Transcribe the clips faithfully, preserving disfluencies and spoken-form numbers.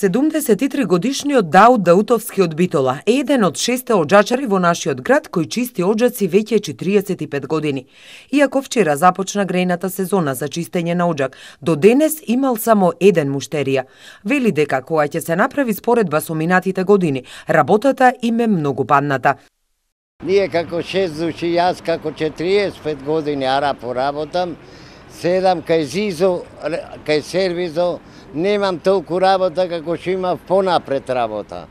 седумдесет и три годишниот Дауд Даутовски од Битола е еден од шесте оџачари во нашиот град кој чисти оџаци веќе четириесет и пет години. Иако вчера започна грејната сезона за чистење на оџак, до денес имал само еден муштерија. Вели дека кога ќе се направи споредба со минатите години, работата им е многу падната. Ние како шест души, јас како четириесет и пет години ара поработам, седам кај Зизо, кај сервизо, немам толку работа како што имав понапред работа.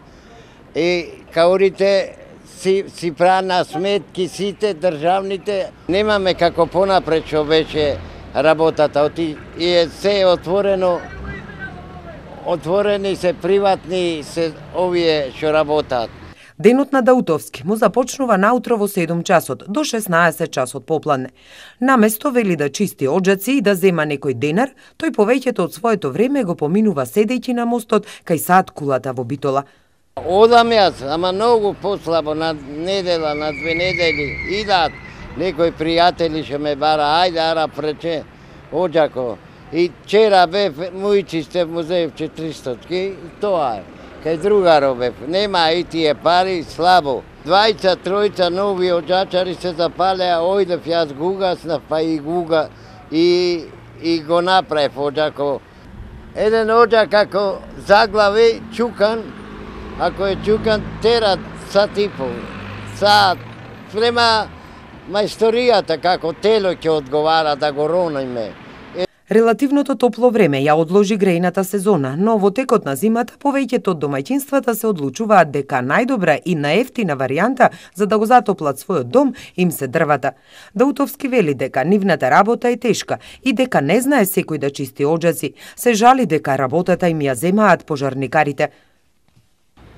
И каурите си, си прана сметки сите државните, немаме како понапред што беше работата. Оти, и е се отворено, отворени се приватни се овие што работат. Денот на Даутовски му започнува наутро во седум часот до шеснаесет часот попладне. Наместо вели да чисти оџаци и да зема некој денар, тој повеќето од своето време го поминува седејќи на мостот кај сад кулата во Битола. Одам јас, ама многу послабо, на недела, на две недели, идат некои пријатели што ме бара, ајде ара прече оџако. И вчера бев, мојчи сте му зев четиристотки, тоа е. Кај другаро бев, нема и тие пари, слабо. Двајца, тројца нови оџачари се запалеа, ојдев јас гугаснав, па и гуга, и, и го направив оџако. Еден оџак ако заглави, чукан, ако е чукан, тера сат и пол, сат. Према мајсторијата, како тело ќе одговара да го рониме. Релативното топло време ја одложи грејната сезона, но во текот на зимата повеќето од домаќинствата се одлучуваат дека најдобра и наевтина варијанта за да го затоплат својот дом им се дрвата. Даутовски вели дека нивната работа е тешка и дека не знае секој да чисти оџаци. Се жали дека работата им ја земаат пожарникарите.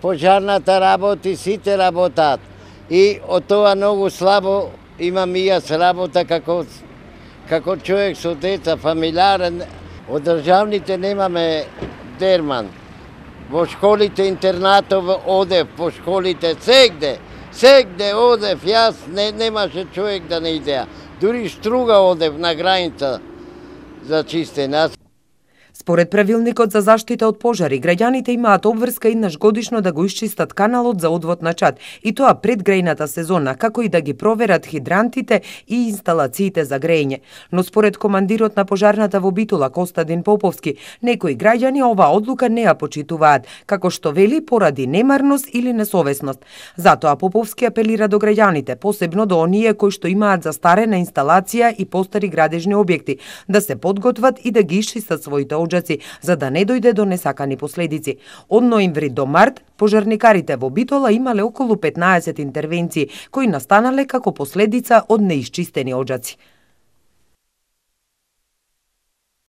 Пожарната работи, сите работат. И од тоа многу слабо имам и јас работа како како човек со деца, фамилиарен. Од државните немаме дерман. Во школите, интернатов одев, по школите, сегде, сегде одев, јас не, немаше човек да не идеа. Дури Струга одев на граница за чистење. Според правилникот за заштита од пожари, граѓаните имаат обврска еднаш годишно да го исчистат каналот за одвод на чад, и тоа пред грејната сезона, како и да ги проверат хидрантите и инсталациите за грејење. Но според командирот на пожарната во Битола, Костадин Поповски, некои граѓани оваа одлука не ја почитуваат, како што вели поради немарност или несовесност. Затоа Поповски апелира до граѓаните, посебно до оние кои што имаат застарена инсталација и постари градежни објекти, да се подготват и да ги исчистат своите оџаци, за да не дојде до несакани последици. Од ноември до март, пожарникарите во Битола имале околу петнаесет интервенции, кои настанале како последица од неисчистени оџаци.